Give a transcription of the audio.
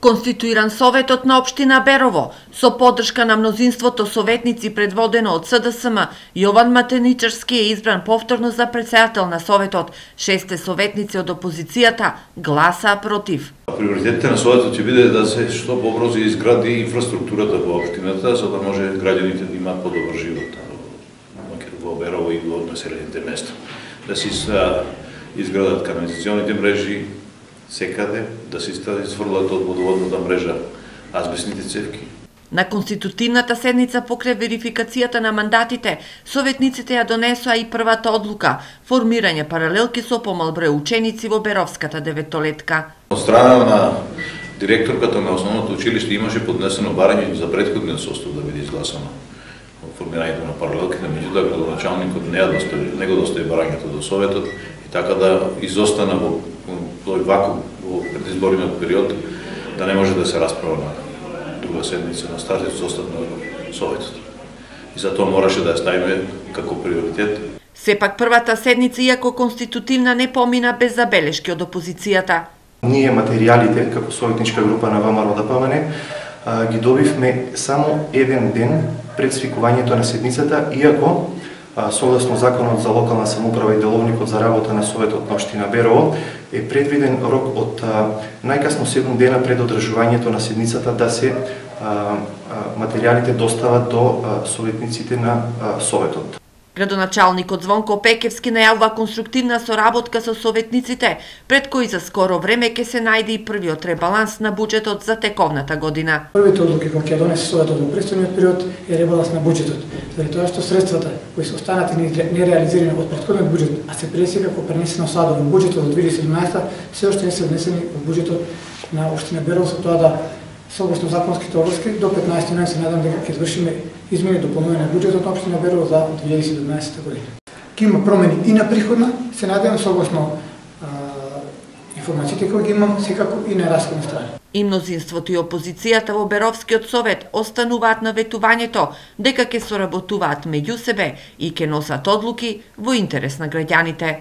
Конституиран советот на општина Берово со поддршка на мнозинството советници предводено од СДСМ, Јован Матеничарски е избран повторно за претседател на советот. 6 советници од опозицијата гласаа против. Приоритетите на советот ќе биде да се што побрзо изгради инфраструктурата во општината, за да може граѓаните да имаат подобар живот во Берово и во населените места. Да се изградат канализационите мрежи секаде, да се изфрлат од водоводната мрежа азбестните цевки. На конститутивната седница покрај верификацијата на мандатите, советниците ја донесоа и првата одлука – формирање паралелки со помал број ученици во Беровската деветолетка. Од страна на директорката на основното училиште имаше поднесено барање за претходниот состав да биде изгласано формирањето на паралелките, меѓутоа градоначалникот не го достави барањето до советот и така да изостана во тој вакуум во предизборниот период, да не може да се расправа на друга седница на стариот состав на советот. И затоа мораше да ја ставиме како приоритет. Сепак првата седница, иако конститутивна, не помина без забелешки од опозицијата. Ние материјалите, како советничка група на ВМРО-ДПМН, ги добивме само еден ден пред свикувањето на седницата, иако согласно Законот за локална самоуправа и деловникот за работа на Советот на општина Берово е предвиден рок од најкасно 7 дена пред одржувањето на седницата да се материјалите достават до советниците на Советот. Градоначалникот Звонко Пекевски најавува конструктивна соработка со советниците, пред кои за скоро време ќе се најде и првиот ребаланс на буџетот за тековната година. Првите одлуки кои ќе донесе Советот во престојниот период е ребаланс на буџетот, заради тоа што средствата кои се останати нереализирани од претходниот буџет, а се пресека пренесено садо во буџетот од 2017, се уште не се внесени во буџетот на општина Берово, со тоа да согласно законските обврски до 15 ноември се надам дека ќе извршиме измени и дополнување на буџетот на општина Берово за 2017 година. Ќе има промени и на приходна, се надевам согласно информациите кои ги имам, секако и на расходна страна. И мнозинството и опозицијата во Беровскиот совет остануваат на ветувањето дека ќе соработуваат меѓу себе и ќе носат одлуки во интерес на граѓаните.